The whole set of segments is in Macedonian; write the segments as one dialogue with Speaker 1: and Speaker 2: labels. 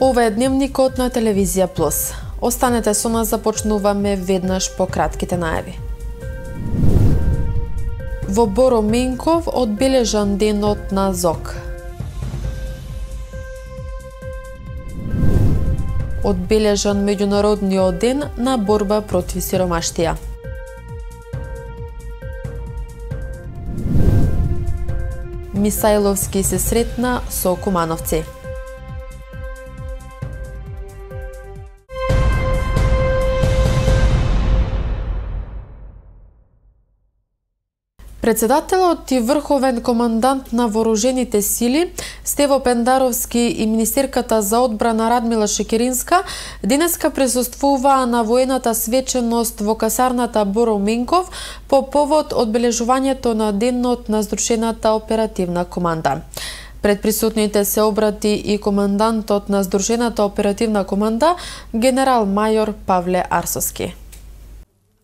Speaker 1: Ова е дневникот на Телевизија Плюс. Останете со нас, започнуваме веднаш по кратките најави. Во Боро Менков одбележан денот на ЗОК. Одбележан меѓународниот ден на борба против сиромаштија. Мисајловски се сретна со кумановци. Председателот и врховен командант на вооружените сили Стево Пендаровски и министерката за одбрана Радмила Шекеринска денеска присуствуваа на воената свеченост во касарната Боро Менков по повод одбележувањето на денот на Здружената оперативна команда. Пред присутните се обрати и командантот на Здружената оперативна команда генерал мајор Павле Арсовски.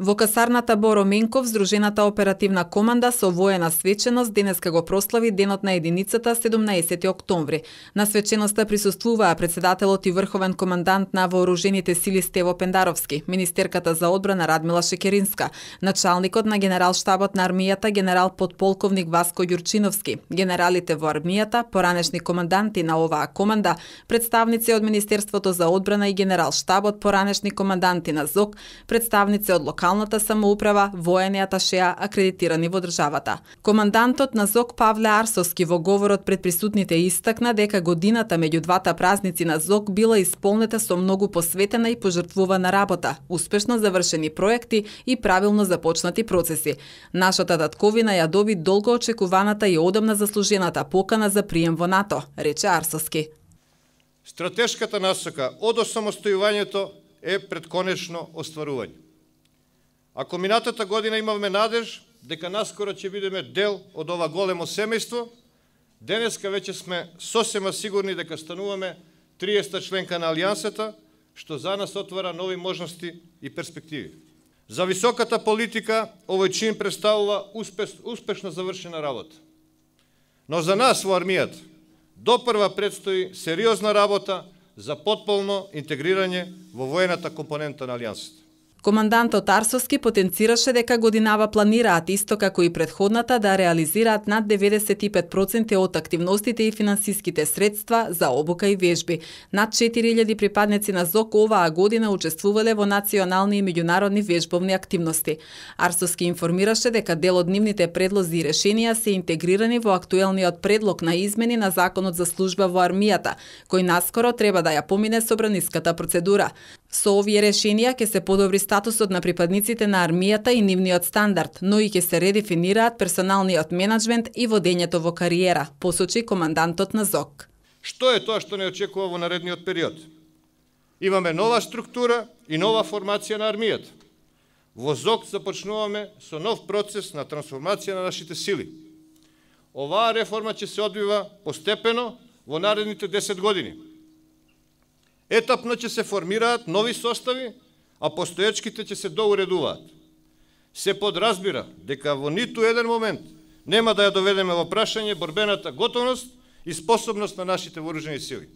Speaker 2: Во касарната Боро Менков, Здружената оперативна команда со воена свеченост денеска го прослави денот на единицата 17 октомври. На свеченоста присуствуваа председателот и врховен командант на вооружените сили Стево Пендаровски, министерката за одбрана Радмила Шекеринска, началникот на генерал-штабот на армијата генерал подполковник Васко Јурчиновски, генералите во армијата, поранешни команданти на оваа команда, представници од Министерството за одбрана и генерал-штабот, поранешни команданти на ЗОК, представници од локалната самоуправа, воени аташеа акредитирани во државата. Командантот на ЗОК Павле Арсовски во говорот пред присутните истакна дека годината меѓу двата празници на ЗОК била исполнета со многу посветена и пожртвувана работа, успешно завршени проекти и правилно започнати процеси. Нашата татковина ја доби долго очекуваната и одамна заслужената покана за прием во НАТО, рече Арсовски.
Speaker 3: Стратешката насока од осамостојувањето е пред конечно остварување. Ако минатата година имавме надеж дека наскоро ќе бидеме дел од ова големо семејство, денеска веќе сме сосема сигурни дека стануваме 30-та членка на Алијансата, што за нас отвара нови можности и перспективи. За високата политика овој чин представува успешно завршена работа. Но за нас во армијата допрва предстои сериозна работа за потполно интегрирање во воената компонента на Алијансата.
Speaker 2: Командантот Арсовски потенцираше дека годинава планираат исто како и претходната да реализираат над 95% од активностите и финансиските средства за обука и вежби. Над 4000 припадници на ЗОК оваа година учествувале во национални и меѓународни вежбовни активности. Арсовски информираше дека дел од нивните предлози и решенија се интегрирани во актуелниот предлог на измени на Законот за служба во армијата, кој наскоро треба да ја помине собраниската процедура. Со овие решенија ќе се подобри статусот на припадниците на армијата и нивниот стандард, но и ќе се редефинираат персоналниот менаџмент и водењето во кариера, посочи командантот на ЗОК.
Speaker 3: Што е тоа што не очекува во наредниот период? Имаме нова структура и нова формација на армијата. Во ЗОК започнуваме со нов процес на трансформација на нашите сили. Оваа реформа ќе се одвива постепено во наредните 10 години. Етапно ќе се формираат нови состави, а постоечките ќе се доуредуваат. Се подразбира дека во ниту еден момент нема да ја доведеме во прашање борбената готовност и способност на нашите вооружени сили.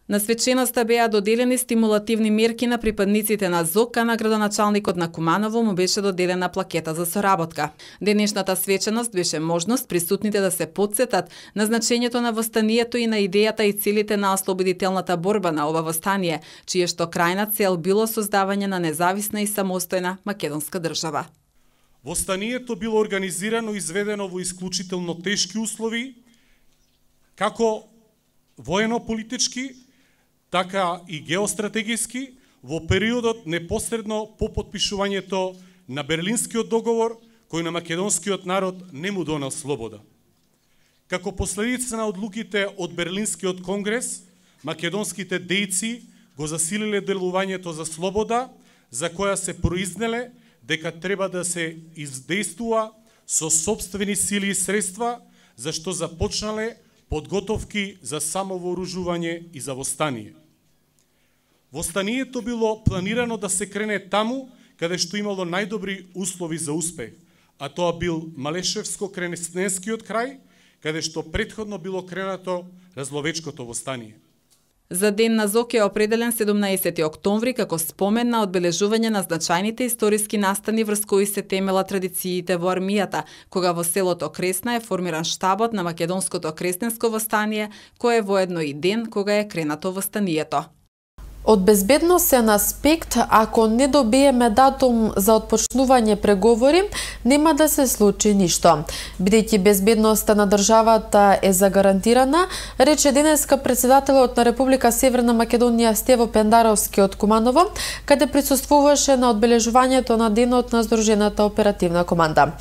Speaker 2: На свеченоста беа доделени стимулативни мерки на припадниците на ЗОК, а на градоначалникот на Куманово му беше доделена плакета за соработка. Денешната свеченост беше можност присутните да се потсетат на значењето на востанието и на идејата и целите на ослободителната борба на ова востание, чие што крајна цел било создавање на независна и самостојна македонска држава.
Speaker 4: Востанието било организирано и изведено во исклучително тешки услови, како воено-политички, така и геостратегиски, во периодот непосредно по потпишувањето на Берлинскиот договор, кој на македонскиот народ не му донел слобода. Како последица на одлуките од Берлинскиот конгрес, македонските дејци го засилиле делувањето за слобода, за која се произнеле дека треба да се издействува со сопствени сили и средства, зашто започнале подготовки за самовооружување и за востание. Востанието било планирано да се крене таму каде што имало најдобри услови за успех, а тоа бил Малешевско-Кренесненскиот крај, каде што претходно било кренато Разловечкото востание.
Speaker 2: За Ден на ЗОК е определен 17 октомври како спомен на одбележување на значајните историски настани врз кои се темела традициите во армијата, кога во селото Кресна е формиран штабот на Македонското кресненско востание, кој е воедно и ден кога е кренато востанието.
Speaker 1: Од безбедносен аспект, ако не добиеме датум за отпочнување преговори, нема да се случи ништо. Бидејќи безбедноста на државата е загарантирана, рече денеска председателот на Република Северна Македонија Стево Пендаровски од Куманово, каде присуствуваше на одбележувањето на денот на Здружената оперативна команда.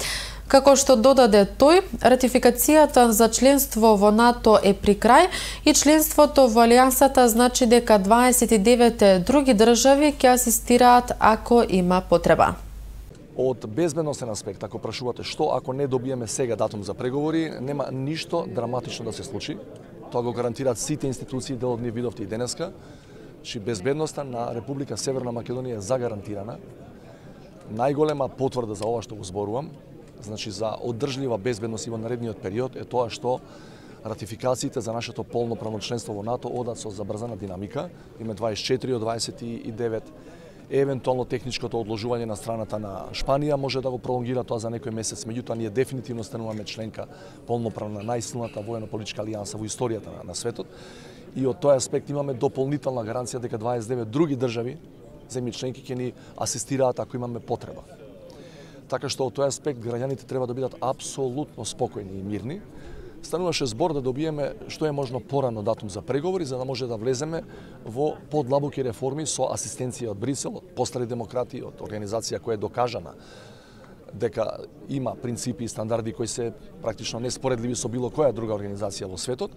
Speaker 1: Како што додаде тој, ратификацијата за членство во НАТО е при крај и членството во Алијансата значи дека 29 други држави ќе асистираат ако има потреба.
Speaker 5: Од безбедносен аспект, ако прашувате што ако не добиеме сега датум за преговори, нема ништо драматично да се случи. Тоа го гарантираат сите институции, дел од нив видовте и денеска, че безбедноста на Република Северна Македонија е загарантирана. Најголема потврда за ова што го зборувам, значи за одржлива безбедност и во наредниот период е тоа што ратификациите за нашето полноправно членство во НАТО одат со забрзана динамика. Име 24 од 29. Евентуално техничкото одложување на страната на Шпанија може да го пролонгира тоа за некој месец, меѓутоа ние дефинитивно стануваме членка полноправна најсилната воено-политичка алијанса во историјата на светот. И од тој аспект имаме дополнителна гаранција дека 29 други држави, земји членки, ќе ни асистираат ако имаме потреба. Така што од тој аспект граѓаните треба да бидат апсолутно спокојни и мирни. Стануваше збор да добиеме што е можно порано датум за преговори, за да може да влеземе во подлабоки реформи со асистенција од Брисел, од Постари демократи, од организација која е докажана дека има принципи и стандарди кои се практично неспоредливи со било која друга организација во светот.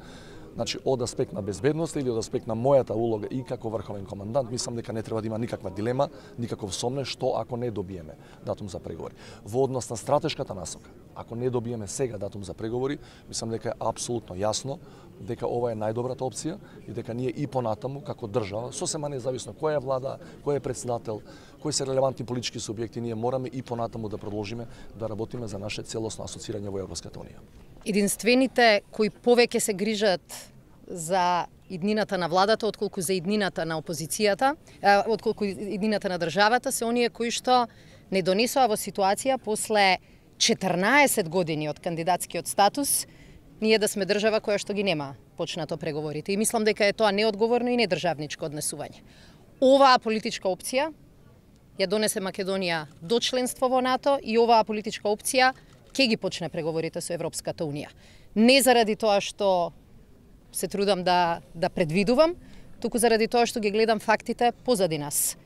Speaker 5: Значи, од аспект на безбедност или од аспект на мојата улога и како врховен командант, мислам дека не треба да има никаква дилема, никаков сомнеж што ако не добиеме датум за преговори. Во однос на стратешката насока, ако не добиеме сега датум за преговори, мислам дека е апсолутно јасно дека ова е најдобрата опција и дека ние и понатаму како држава, сосема независно која е влада, кој е председател, кои се релевантни политички субјекти, ние мораме и понатаму да продолжиме да работиме за наше целосно асоцирање во Европската унија.
Speaker 6: Единствените кои повеќе се грижат за иднината на владата отколку за иднината на опозицијата, отколку иднината на државата, се оние кои што не донесоа во ситуација после 14 години од кандидатскиот статус ние да сме држава која што ги нема почнато преговорите. И мислам дека е тоа неодговорно и недржавничко однесување. Оваа политичка опција ја донесе Македонија до членство во НАТО и оваа политичка опција ќе ги почне преговорите со Европската унија. Не заради тоа што се трудам да предвидувам, туку заради тоа што ги гледам фактите позади нас.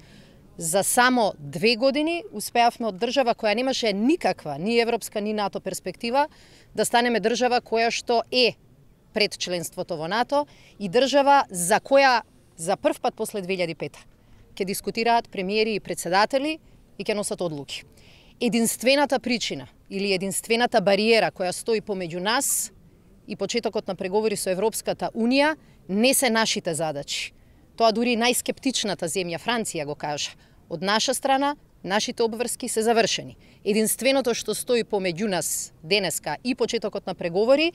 Speaker 6: За само 2 години успеавме од држава која немаше никаква, ни европска, ни НАТО перспектива, да станеме држава која што е пред членството во НАТО и држава за која за прв пат после 2005 ќе дискутираат премиери и председатели и ќе носат одлуки. Единствената причина или единствената бариера која стои помеѓу нас и почетокот на преговори со Европската унија не се нашите задачи. Тоа дури најскептичната земја Франција го кажа. Од наша страна, нашите обврски се завршени. Единственото што стои помеѓу нас денеска и почетокот на преговори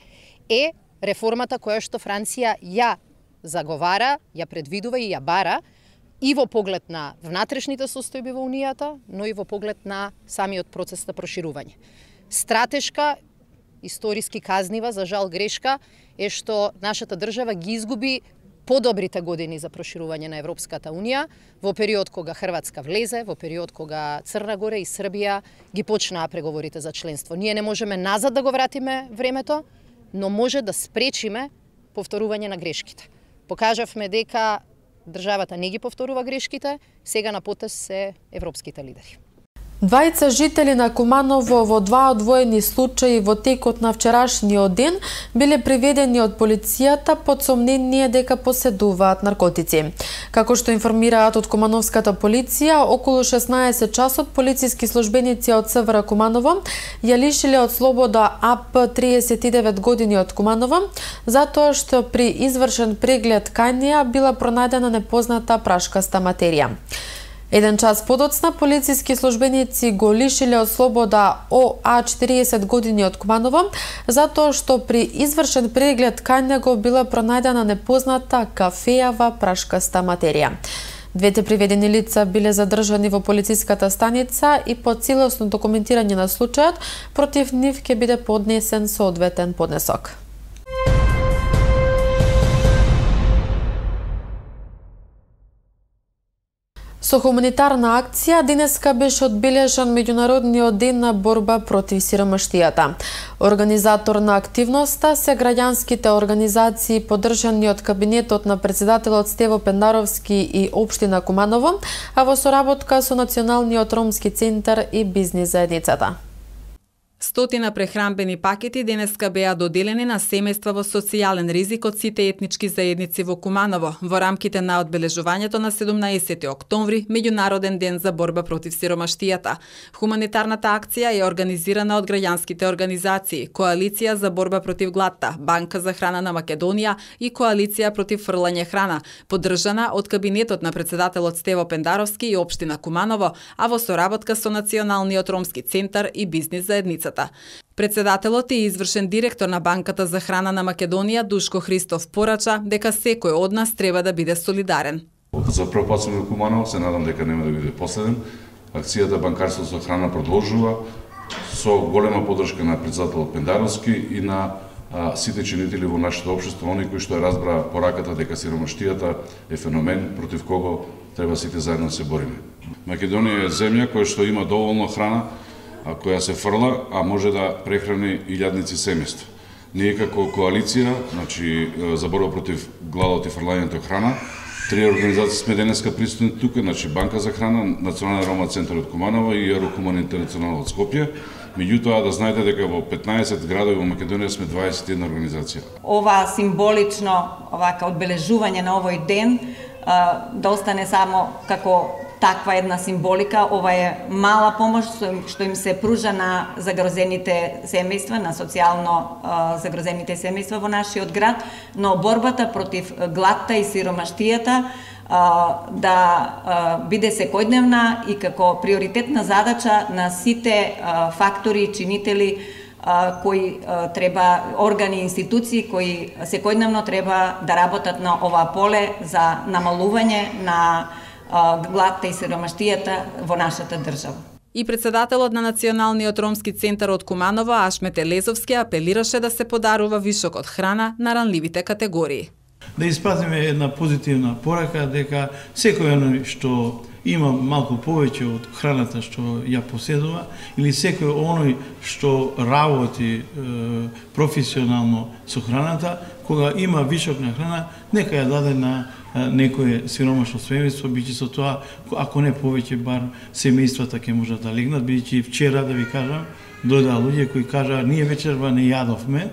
Speaker 6: е реформата која што Франција ја заговара, ја предвидува и ја бара и во поглед на внатрешните состојби во Унијата, но и во поглед на самиот процес на проширување. Стратешка, историски казнива, за жал грешка, е што нашата држава ги изгуби подобрите години за проширување на Европската унија во период кога Хрватска влезе, во период кога Црна Гора и Србија ги почнаа преговорите за членство. Ние не можеме назад да го вратиме времето, но може да спречиме повторување на грешките. Покажавме дека државата не ги повторува грешките, сега на потез се европските лидери.
Speaker 1: Двајца жители на Куманово во два одвоени случаи во текот на вчерашниот ден биле приведени од полицијата под сомнение дека поседуваат наркотици. Како што информираат од Кумановската полиција, околу 16 часот полициски службеници од СВР Куманово ја лишиле од слобода АП 39 години од Куманово, затоа што при извршен преглед кај неа била пронајдена непозната прашкаста материја. Еден час подоцна, полициски службеници го лишиле од слобода ОА 40 години од Куманово, затоа што при извршен преглед кај него била пронајдена непозната кафејава прашкаста материја. Двете приведени лица биле задржани во полициската станица и по целосно документирање на случајот против нив ќе биде поднесен соодветен поднесок. Со хуманитарна акција денеска беше одбележан меѓународниот ден на борба против сиромаштијата. Организатор на активноста се граѓанските организации поддржани од кабинетот на председателот Стево Пендаровски и општина Куманово, а во соработка со Националниот ромски центар и бизнис заедницата.
Speaker 2: Стотина прехранбени пакети денеска беа доделени на семејства во социјален ризик од сите етнички заедници во Куманово во рамките на одбележувањето на 17 октомври, меѓународен ден за борба против сиромаштијата. Хуманитарната акција е организирана од граѓанските организации, Коалиција за борба против гладта, Банка за храна на Македонија и Коалиција против фрлање храна, поддржана од кабинетот на председателот Стево Пендаровски и општина Куманово, а во соработка со Националниот ромски центар и бизнис заедницата. Председателот и извршен директор на Банката за храна на Македонија Душко Христов порача дека секој од нас треба да биде солидарен.
Speaker 7: За прв пат сум во Куманово, се надам дека нема да биде последен. Акцијата Банкарство за храна продолжува со голема поддршка на председателот Пендаровски и на сите чинители во нашето општество, они кои што разбра пораката дека сиромаштијата е феномен против кого треба сите заедно да се бориме. Македонија е земја која што има доволно храна, која се фрла, а може да прехрани илјадници семејства. Ние како коалиција, значи за борба против гладот и фрлањето храна, три организации сме денеска присутни тука, значи Банка за храна, Национален ромски центар од Куманово и Еврокуман Интернационал од Скопје. Меѓутоа да знаете дека во 15 градови во Македонија сме 21 организација.
Speaker 8: Ова символично овака одбележување на овој ден да остане само како таква една символика. Ова е мала помош што им се пружа на загрозените семејства, на социјално загрозените семејства во нашиот град, но борбата против гладта и сиромаштијата да биде секојдневна и како приоритетна задача на сите фактори и чинители кои треба, органи и институции кои секојдневно треба да работат на ова поле за намалување на гладта и сиромаштијата во нашата држава.
Speaker 2: И председателот на Националниот ромски центар од Куманово Ашмет Елезовски апелираше да се подарува вишок од храна на ранливите категории.
Speaker 9: Да испратиме една позитивна порака дека секој оној што има малку повеќе од храната што ја поседува или секој оној што работи професионално со храната, кога има вишок на храна, нека ја даде на некое сиромашно семејство, биќе со тоа, ако не повеќе, бар семејствата ќе можат да легнат, бидејќи вчера, да ви кажам, дојдоа луѓе кои кажаа, ние вечерва не јадовме,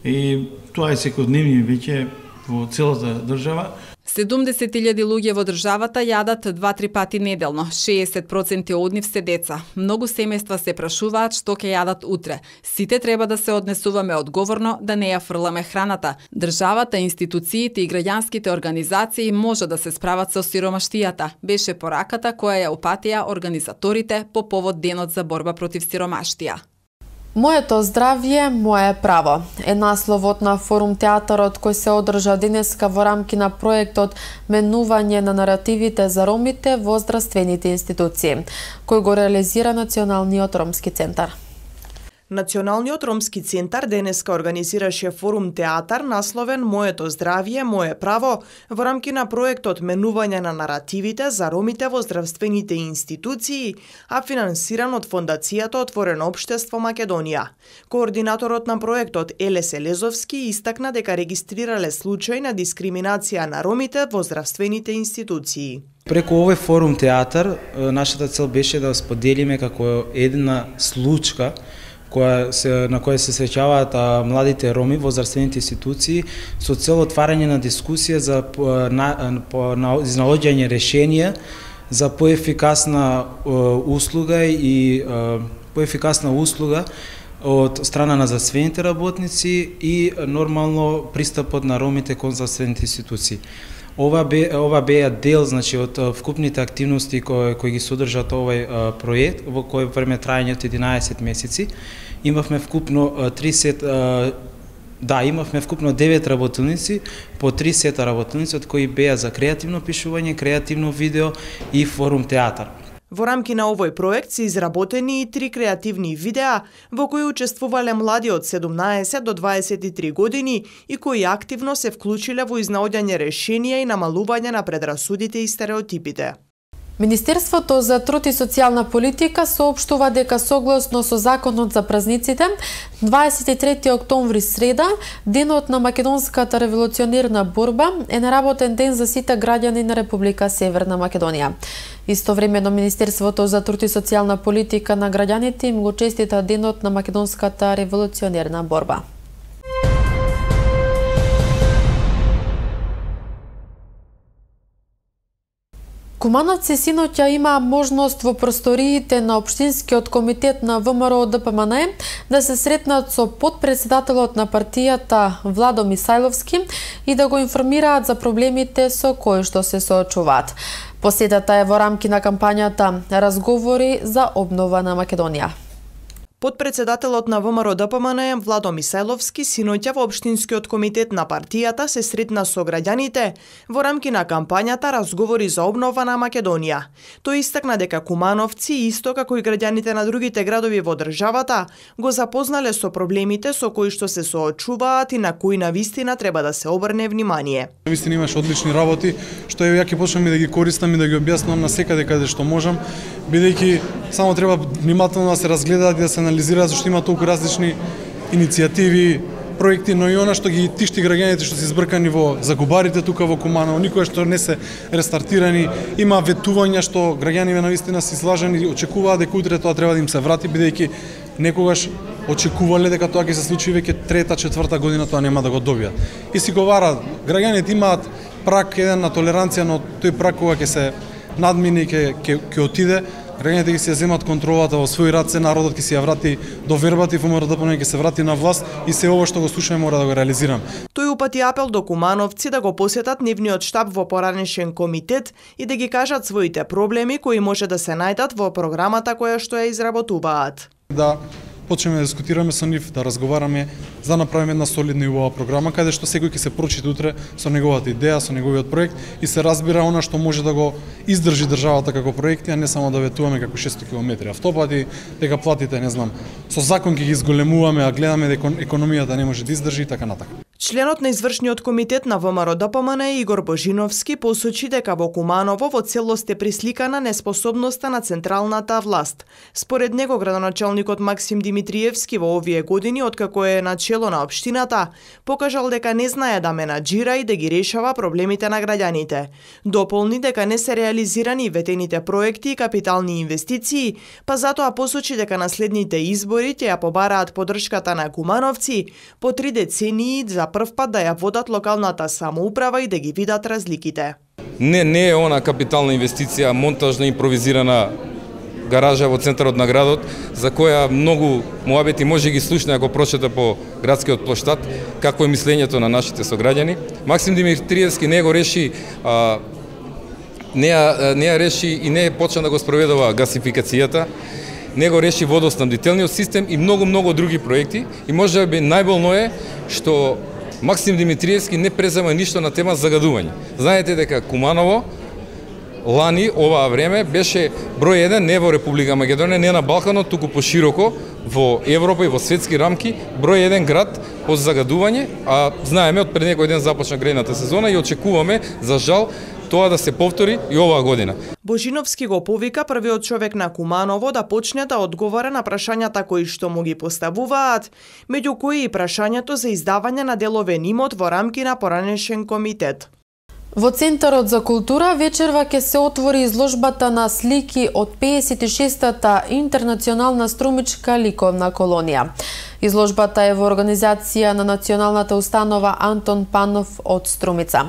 Speaker 9: и тоа е секојдневни веќе во целата држава.
Speaker 2: 70.000 луѓе во државата јадат 2-3 пати неделно, 60% од нив се деца. Многу семејства се прашуваат што ќе јадат утре. Сите треба да се однесуваме одговорно, да не ја фрламе храната. Државата, институциите и граѓанските организации може да се справат со сиромаштијата, беше пораката која ја упатија организаторите по повод денот за борба против сиромаштија.
Speaker 1: Моето здравје, мое право е насловот на форум театарот кој се одржа денеска во рамки на проектот Менување на наративите за ромите во здравствените институции, кој го реализира Националниот ромски центар.
Speaker 10: Националниот ромски центар денеска организираше форум театар насловен Моето здравје, мое право во рамки на проектот Менување на наративите за ромите во здравствените институции, а финансиран од Фондацијата Отворено општество Македонија. Координаторот на проектот Елес Елезовски истакна дека регистрирале случај на дискриминација на ромите во здравствените институции.
Speaker 11: Преку овој форум театар, нашата цел беше да споделиме како една случка на која се среќаваат младите роми во здравствените институции со цел отварање на дискусија за изнаоѓање решенија за поефикасна услуга и од страна на здравствените работници и нормално пристапот на ромите кон здравствените институции. Ова беа дел, значи, од вкупните активности кои ги содржат овој проект, во кој време трајање од 11 месеци. Имавме вкупно 9 работилници, по 3 сета работилници, од кои беа за креативно пишување, креативно видео и форум театар.
Speaker 10: Во рамки на овој проект се изработени и 3 креативни видеа во кои учествувале млади од 17 до 23 години и кои активно се вклучиле во изнаоѓање решенија и намалување на предрасудите и стереотипите.
Speaker 1: Министерството за труд и социјална политика соопштува дека согласно со законот за празниците, 23 октомври среда, денот на македонската револуционерна борба, е неработен ден за сите граѓани на Република Северна Македонија. Истовремено Министерството за труд и социјална политика на граѓаните им го честита денот на македонската револуционерна борба. Кумановци синоќа имаа можност во просториите на Општинскиот комитет на ВМРО ДПМН да се сретнат со потпредседателот на партијата Владо Мисајловски и да го информираат за проблемите со кои што се соочуваат. Посетата е во рамки на кампањата Разговори за обнова на Македонија.
Speaker 10: Потпредседателот на ВМРО ДПМН Владо Мисајловски синоќа во Општинскиот комитет на партијата се сретна со граѓаните во рамки на кампањата Разговори за обнова на Македонија. Тој истакна дека кумановци, исто како и граѓаните на другите градови во државата, го запознале со проблемите со кои што се соочуваат и на кои навистина треба да се обрне внимание.
Speaker 12: Навистина имаш одлични работи, што ја ќе почнам и да ги користам и да ги објаснам на секаде каде што можам, бидејќи само треба внимателно да се разгледаат и да се анализираат, зашто има толку различни иницијативи, проекти, но и она што ги тишти граѓаните што се избркани во загубарите тука во Куманово, никој што не се рестартирани, има ветувања што граѓаниве навистина се излажени и очекуваат дека утре тоа треба да им се врати, бидејќи некогаш очекувале дека тоа ќе се случи веќе трета, четврта година, тоа нема да го добијат. И си го вара, граѓаните имаат прак еден на толеранција, но тој прак кога ќе се надмине и ќе отиде, граѓаните ќе си ја земат контролата во своји раце, народот ќе си ја врати до вербата и ВМРО ДПМН ќе се врати на власт и се ова што го слушаме мора да го реализирам.
Speaker 10: Тој упати апел до кумановци да го посетат нивниот штаб во поранешен комитет и да ги кажат своите проблеми кои може да се најдат во програмата која што ја изработуваат.
Speaker 12: Да почнеме да дискутираме со нив, да разговараме за направиме една солидна и убава програма каде што секој ќе се прочита утре со неговата идеја, со неговиот проект и се разбира она што може да го издржи државата како проекти, а не само да ветуваме како 600 км автопати, дека платите, не знам, со закон ќе ги изголемуваме, а гледаме дека економијата не може да издржи и така натака.
Speaker 10: Членот на извршниот комитет на ВМРО ДПМН Игор Божиновски посочи дека во Куманово во целост е присликана неспособноста на централната власт. Според него градоначалникот Максим Димитриевски во овие години откако е на чело на општината, покажал дека не знае да менаџира и да ги решава проблемите на граѓаните. Дополни дека не се реализирани ветените проекти и капитални инвестиции, па затоа посочи дека на следните избори ќе ја побараат поддршката на кумановци по 3 децении за прв пат да ја водат локалната самоуправа и да ги видат разликите.
Speaker 13: Не е она капитална инвестиција, монтажна импровизирана гаража во центарот на градот, за која многу муабети може ги слушне ако прочета по градскиот плоштад, какво е мислењето на нашите сограѓани. Максим Димитриевски не го реши, не ја реши и не почна да го спроведува гасификацијата, не го реши водоснабдителниот систем и многу други проекти. И можеби најболно е што Максим Димитриевски не презема ништо на тема загадување. Знаете дека Куманово лани оваа време беше број 1 не во Република Македонија, не на Балканот, туку пошироко во Европа и во светски рамки, број 1 град по загадување, а знаеме од пред некој ден започна грејната сезона и очекуваме за жал тоа да се повтори и оваа година.
Speaker 10: Божиновски го повика првиот човек на Куманово да почне да одговара на прашањата кои што му ги поставуваат, меѓу кои и прашањето за издавање на деловен имот во рамки на поранешен комитет.
Speaker 1: Во Центарот за култура вечерва ќе се отвори изложбата на слики од 56-та интернационална струмичка ликовна колонија. Изложбата е во организација на националната установа Антон Панов од Струмица.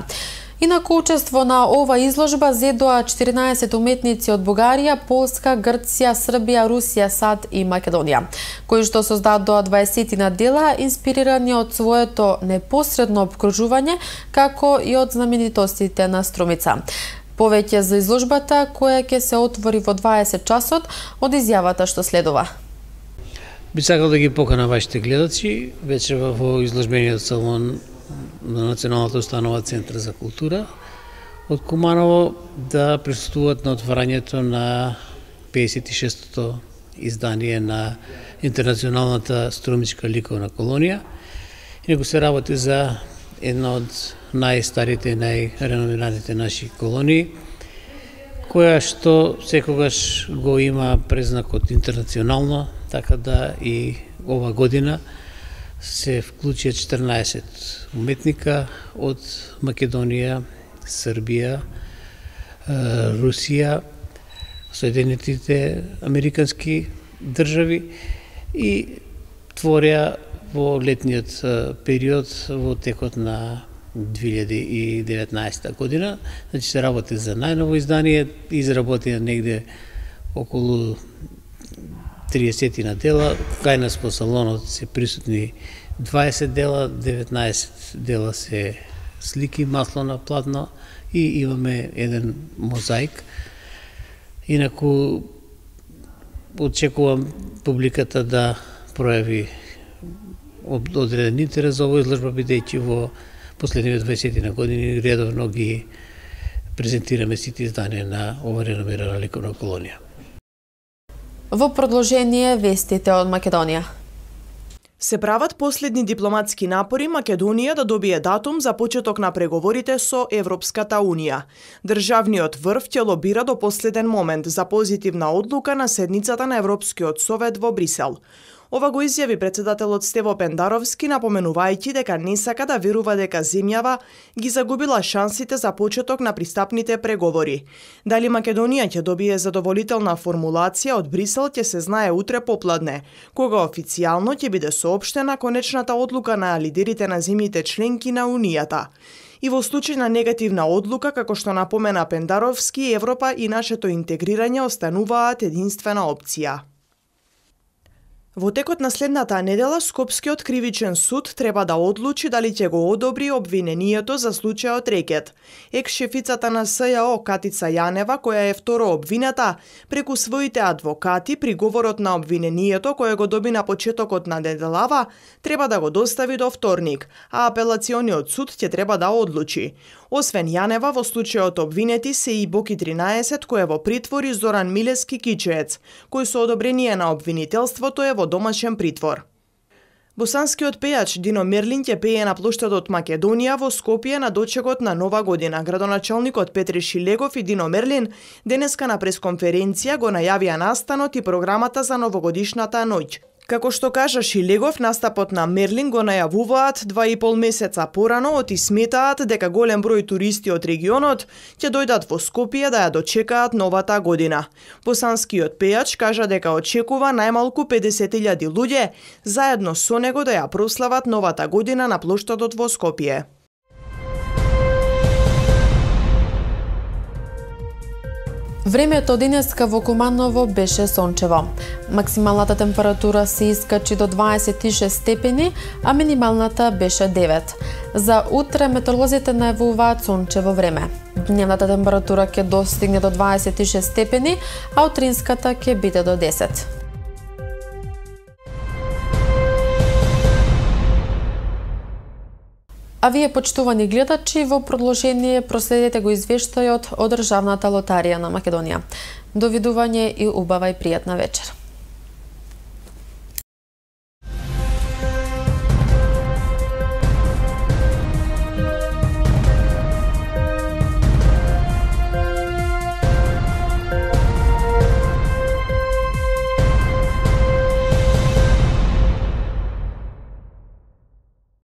Speaker 1: Инаку учество на ова изложба зедоа 14 уметници од Бугарија, Полска, Грција, Србија, Русија, САД и Македонија, кои што создадоа 20 дела инспирирани од своето непосредно обкружување, како и од знаменитостите на Струмица. Повеќе за изложбата, која ќе се отвори во 20 часот, од изјавата што следува.
Speaker 14: Би сакал да ги покана вашите гледачи вечерва во изложбениот салон на Националната установа Центар за култура од Куманово да присуствуваат на отварањето на 56-то издание на Интернационалната струмичка ликовна колонија. Инаку се работи за една од најстарите и најреномираните наши колонии, која што секогаш го има презнакот интернационално, така да и ова година се вклучија 14 уметника од Македонија, Србија, Русија, Соединетите Американски држави и твореа во летниот период во текот на 2019 година. Значи се работи за најново издание, изработија негде околу 30 на дела, кај нас по салонот се присутни 20 дела, 19 дела се слики, масло на платно и имаме еден мозаик. Инаку очекувам публиката да пројави одреден интерес за овој изложба, бидејќи во последните 20 на години редовно ги презентираме сите изданија на ова реномирана ликовна колонија.
Speaker 1: Во продолжение вестите од Македонија.
Speaker 10: Се прават последни дипломатски напори Македонија да добие датум за почеток на преговорите со Европската Унија. Државниот врв ќе лобира до последен момент за позитивна одлука на седницата на Европскиот совет во Брисел. Ова го изјави председателот Стево Пендаровски, напоменувајќи дека не сака да верува дека земјава ги загубила шансите за почеток на пристапните преговори. Дали Македонија ќе добие задоволителна формулација од Брисел ќе се знае утре попладне, кога официјално ќе биде соопштена конечната одлука на лидерите на земјите членки на Унијата. И во случај на негативна одлука, како што напомена Пендаровски, Европа и нашето интегрирање остануваат единствена опција. Во текот на следната недела, Скопскиот кривичен суд треба да одлучи дали ќе го одобри обвинението за случајот Рекет. Екс-шефицата на СЈО Катица Јанева, која е второ обвината, преку своите адвокати приговорот на обвинението кој го доби на почетокот на неделава, треба да го достави до вторник, а апелациониот суд ќе треба да одлучи. Освен Јанева, во случајот обвинети се и Боки 13, кој е во притвор, и Зоран Милески Кичеец, кој со одобрение на обвинителството е во домашен притвор. Босанскиот пејач Дино Мерлин ќе пее на плоштадот Македонија во Скопје на дочекот на Нова година. Градоначалникот Петре Шилегов и Дино Мерлин денеска на пресконференција го најавија настанот и програмата за новогодишната ноќ. Како што кажа Шилегов, настапот на Мерлин го најавуваат 2,5 месеца порано и сметаат дека голем број туристи од регионот ќе дојдат во Скопје да ја дочекаат новата година. Босанскиот пејач кажа дека очекува најмалку 50.000 луѓе заедно со него да ја прослават новата година на плоштадот во Скопје.
Speaker 1: Времето денеска во Куманово беше сончево. Максималната температура се искачи до 26 степени, а минималната беше 9. За утре метеоролозите најавуваат сончево време. Дневната температура ќе достигне до 26 степени, а утринската ќе биде до 10. А вие, почитувани гледачи, во продолжение проследете го извештајот од Државната лотарија на Македонија. Довидување и убава и пријатна вечер.